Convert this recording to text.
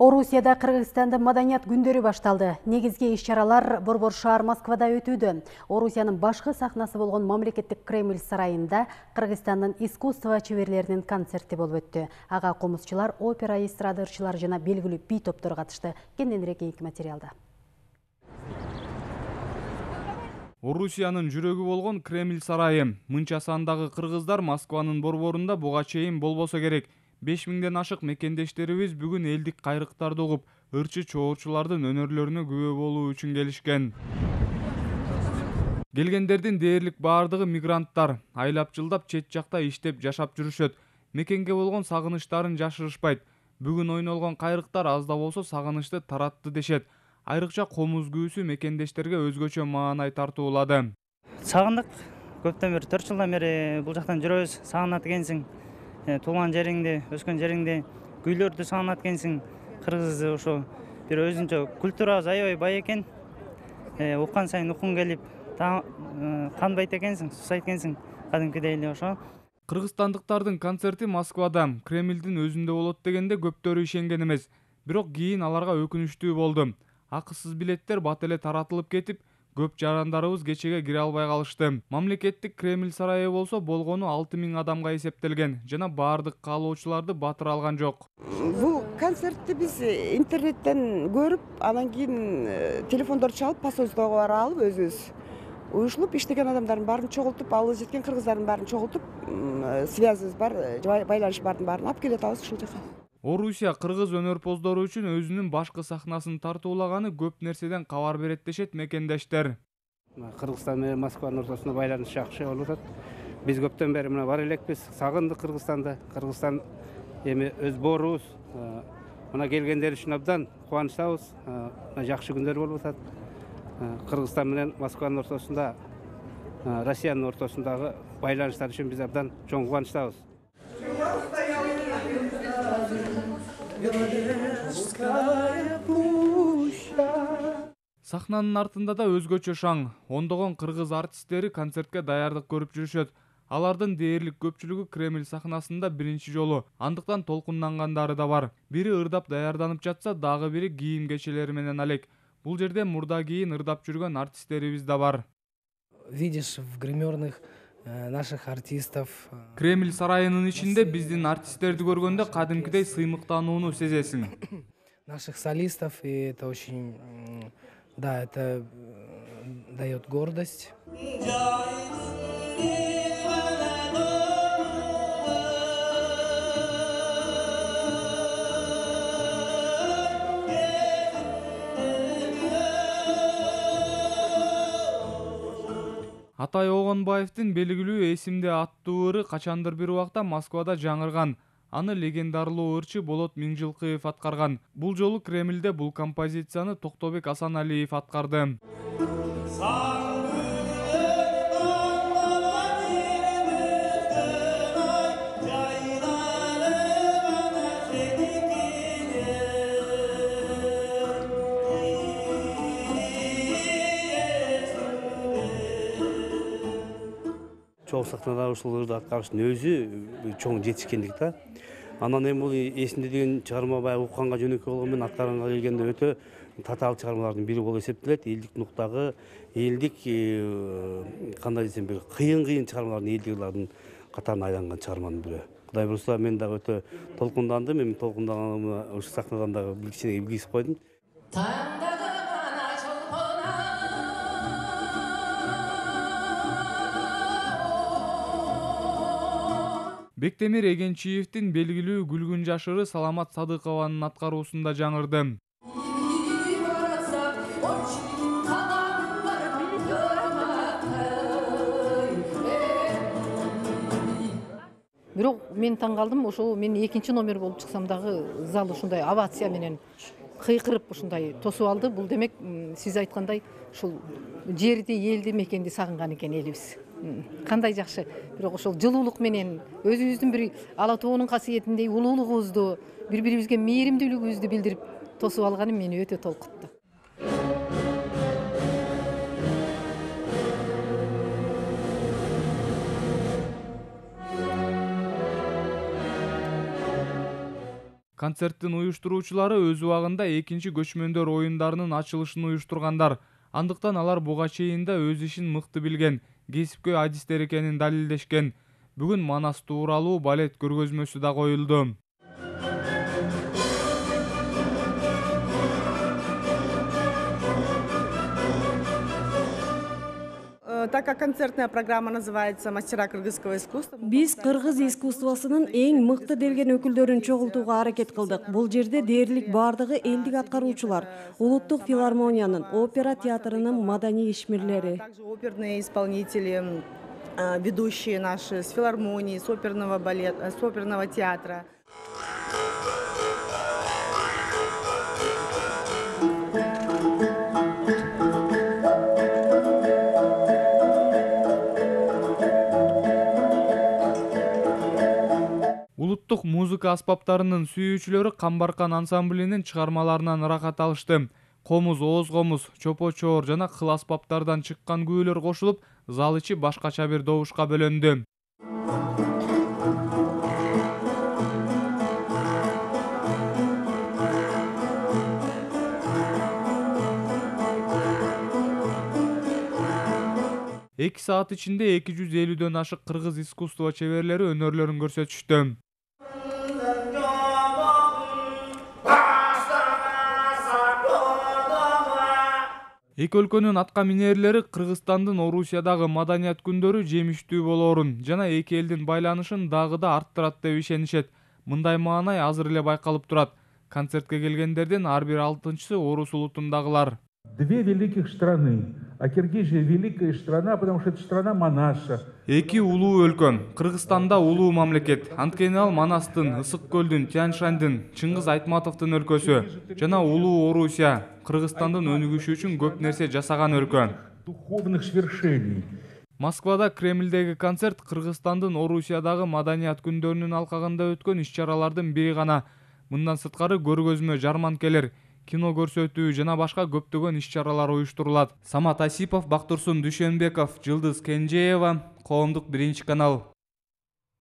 Орусияда Кыргызстандын маданият күндөрү башталды. Негизги иш-чаралар Борбор шаар Москвада өтүүдө. Орусиянын башкы сахнасы болгон мамлекеттик Кремль сарайында Кыргызстандын искусство чеберлеринин концерти болуп өттү. Ага комузчулар, опера, эстрада ырчылары жана белгилүү би топтор катышты. Кененирээк кийинки материалда. Орусиянын жүрөгү болгон Кремль сарайы. Мынча сандагы кыргыздар Москванын борборунда буга чейин болбосо керек. 5000ден ашык мекендештерибиз бүгүн элдик кайрыктарды угуп, ырчы чоочулардын өнөрлөрүнө күбө болуу үчүн келишкен. Келгендердин дээрлик баардыгы мигранттар. Айлап жылдап чет жакта иштеп жашап жүрүшөт. Мекенге болгон сагынычтарын жашырышпайт. Бүгүн ойнолгон кайрыктар аз да болсо сагынычты таратты дешет. Айрыкча комуз күүсү мекендештерге өзгөчө маанай тартуулады. Сагындык. Көптөн бери 4 жылдан бери бул жактан жүрөбүз. Сагынат экенсиң. Туулган жериңди, өскөн жериңди, күйлөрдү сагынат экенсиң. Кыргыз ошо бир өзүнчө культурабыз аябай бай экен. Уккан сайын уккуң келип, канбайт экенсиң, сусайт экенсиң. Кадимкидей эле ошо. Кыргызстандыктардын концерти Москвада, Кремлдин өзүндө болот дегенде көптөрү ишенген эмес. Бирок кийин аларга өкүнүчтүү болду. Акысыз билеттер бат эле таратылып кетип, көп жарандарыбыз кечеге кире албай калышты. Мамлекеттик Кремль сарайы болсо болгону 6000 адамга эсептелген жана баардык каалоочуларды батыра алган жок. Бул концертти биз интернеттен көрүп, анан кийин телефондорду чалып, посольствого бара алып, өзүбүз уюшулуп иштеген адамдардын баарын чогултуп, алыс жеткен кыргыздардын баарын чогултуп, связыбыз бар, байланыш бардын баарын алып келип атабыз ушул жака. Орусия кыргыз өнөрпоздору үчүн өзүнүн башкы сахнасын тартуулаганы көп нерседен кабар берет дешет мекендештер. Кыргызстан менен Москванын ортосунда байланыш жакшы болуп атат. Биз көптөн бери мына бар элекпиз, сагындык Кыргызстанды. Кыргызстан эми өз боорубуз. Мына келгендер үчүн абдан кубанычтабыз. Жакшы күндөр болуп атат. Кыргызстан менен Москванын ортосунда, Россиянын ортосундагы байланыштар үчүн биз абдан чоң кубанычтабыз. Сахнанын артында да өзгөчө шаң. Ондогон кыргыз артисттери концертке даярдык көрүп жүрүшөт. Алардын дээрлик көпчүлүгү Кремль сахнасында биринчи жолу, андыктан толкундангандары да бар. Бири ырдап даярданып жатса, дагы бири кийим кечелери менен алек. Бул жерде мурда кийин ырдап жүргөн артисттерибиз да бар. Видишь в гримерных наших артистов. Кремль сарайынын ичинде биздин артисттерди көргөндө кадимкидей сыймыктанууну сезесиң. Наших солистов, и это очень, да, это дает гордость. Атай Огонбаевдин белгилүү эсимде аттуу ыры качандыр бир убакта Москвада жаңырган. Аны легендарлуу ырчы Болот Миңжилкыев аткарган. Бул жолу Кремльде бул композицияны Токтобек Асаналиев аткарды. Чоң сахнада ушул ырды аткарыштын өзү чоң жетишкендик да. Анан эми бул эсимде деген чыгарма баягы укканга жөнөкөй болгон менен аткарганга келгенде өтө татаал чыгармалардын бири болуп эсептелет. Элдик нуктагы, элдик кандай десем, бир кыйын чыгармалардын элдик катарына айланган чыгарманын бири. Кудай буюрса мен дагы өтө толкундандым. Эми толкунданганыма ушул сахнадан дагы бир кичине билгизип койдум. Бектемир Эгенчиевдин белгилүү Күлгүн жашыры Саламат Садыкованын аткаруусунда жаңырды. Бирок мен таң калдым, ошо мен экинчи номер болуп чыксам дагы зал ушундай овация менен кыйкырып ушундай тосуп алды. Бул демек сиз айткандай ушул жерди, элди, мекенди сагынган экен элибиз. Кандай жакшы. Бирок ошол жылуулук менен өзүбүздүн бир ала тоонун касиетиндей улуулугубузду, бири-бирибизге мээримдүүлүгүбүздү билдирип тосуп алганы мени өтө толкутту. Концерттин уюштуруучулары өз убагында экинчи көчмөндөр оюндарынын ачылышын уюштургандар. Андыктан алар буга чейин да өз ишин мыкты билген, кесипкөй адистер экенин далилдешкен. Бүгүн Манас тууралуу балет көргөзмөсү да коюлду. Так как концертная программа называется «Мастера кыргызского искусства». Биз кыргыз искусствосунун эң мыкты делген өкүлдөрүн чогултууга аракет кылдык. Бул жерде дээрлик бардыгы элдик аткаруучулар, улуттук филармониянын, опера театрынын маданий ишмерлери. Также оперные исполнители, ведущие наши с филармонии, с оперного балета, с оперного театра. Улуттук музыка аспаптарынын сүйүүчүлөрү Камбаркан ансамблинин чыгармаларынан ырахат алышты. Комуз, ооз комуз, чопо-чоор жана кыл аспаптардан чыккан күүлөр кошулуп, зал ичи башкача бир добушка бөлөндү. Эки саат ичинде 250дөн ашык кыргыз искусство чеберлери өнөрлөрүн көрсөтүштү. Эки өлкөнүн атка минерлери Кыргызстандын Орусиядагы маданият күндөрү жемиштүү болоорун жана эки элдин байланышын дагы да арттырат деп ишенишет. Мындай маанай азыр эле байкалып турат. Концертке келгендердин ар бир алтынчысы орус улутундагылар. Две великих страны. А Киргизия великая страна, потому что это страна Манаса. Эки улуу өлкө. Кыргызстанда улуу мамлекет. Анткени ал Манастын, Ысык көлдүн, Тянь-Шаньдын, Чыңгыз Айтматовдун өлкөсү жана улуу Орусия. Кыргызстандын өнүгүшү үчүн көп нерсе жасаган өлкө. Духовных свершений. Москвада Кремлдеги концерт Кыргызстандын Орусиядагы маданият күндөрүнүн алкагында өткөн иш-чаралардын бири гана. Мындан сырткары көргөзмө, жарманкелер, кино көрсөтүү жана башка көптөгөн иш-чаралар уюштурулат. Самат Асипов, Бактурсун Дүйшөнбеков, Жылдыз Кенжеева, Коомдук 1 канал.